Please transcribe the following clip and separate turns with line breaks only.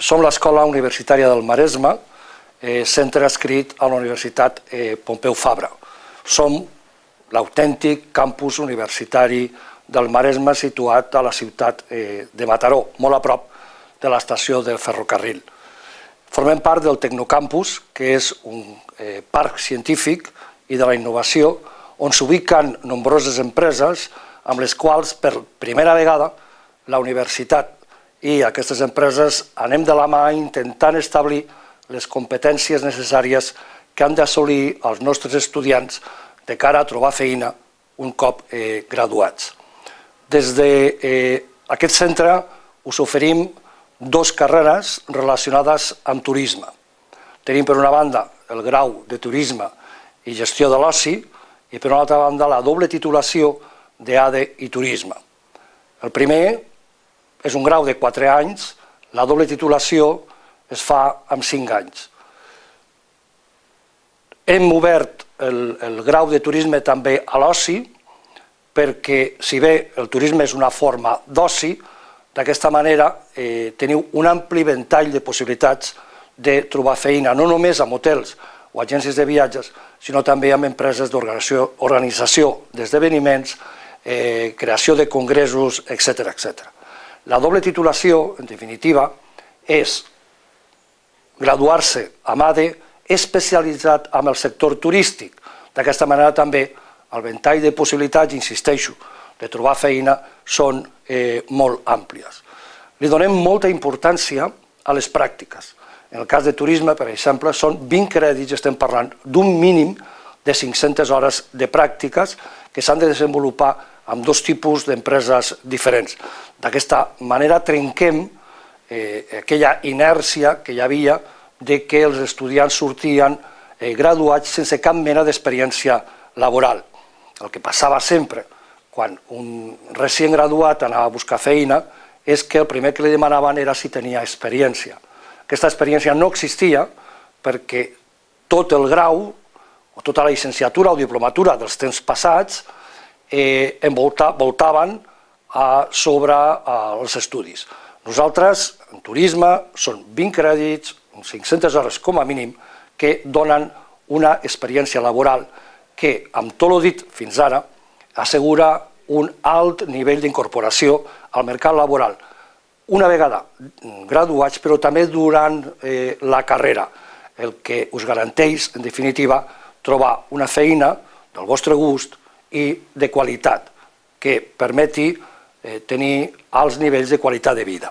Som l'Escola Universitària del Maresme, centre adscrit a la Universitat Pompeu Fabra. Som l'autèntic campus universitari del Maresme situat a la ciutat de Mataró, molt a prop de l'estació del ferrocarril. Formem part del Tecnocampus, que és un parc científic i de la innovació, on s'ubiquen nombroses empreses amb les quals per primera vegada la universitat i aquestes empreses anem de la mà intentant establir les competències necessàries que han d'assolir els nostres estudiants de cara a trobar feina un cop graduats. Des d'aquest centre us oferim dues carreres relacionades amb turisme. Tenim per una banda el grau de turisme i gestió de l'oci i per una altra banda la doble titulació d'ADE i turisme. El primer és un grau de 4 anys, la doble titulació es fa amb 5 anys. Hem obert el grau de turisme també a l'oci, perquè si bé el turisme és una forma d'oci, d'aquesta manera teniu un ampli ventall de possibilitats de trobar feina, no només amb hotels o agències de viatges, sinó també amb empreses d'organització d'esdeveniments, creació de congressos, etc. La doble titulació, en definitiva, és graduar-se amb ADE especialitzat en el sector turístic. D'aquesta manera també el ventall de possibilitats, insisteixo, de trobar feina són molt àmplies. Li donem molta importància a les pràctiques. En el cas de turisme, per exemple, són 20 crèdits, estem parlant d'un mínim de 500 hores de pràctiques que s'han de desenvolupar amb dos tipus d'empreses diferents. D'aquesta manera trenquem aquella inèrcia que hi havia de que els estudiants sortien graduats sense cap mena d'experiència laboral. El que passava sempre quan un recient graduat anava a buscar feina és que el primer que li demanaven era si tenia experiència. Aquesta experiència no existia perquè tot el grau o tota la llicenciatura o diplomatura dels temps passats voltaven sobre els estudis. Nosaltres, en turisme, són 20 crèdits, 500 hores com a mínim, que donen una experiència laboral que, amb tot el dit fins ara, assegura un alt nivell d'incorporació al mercat laboral. Una vegada graduats, però també durant la carrera, el que us garanteix, en definitiva, trobar una feina del vostre gust i de qualitat, que permeti tenir alts nivells de qualitat de vida.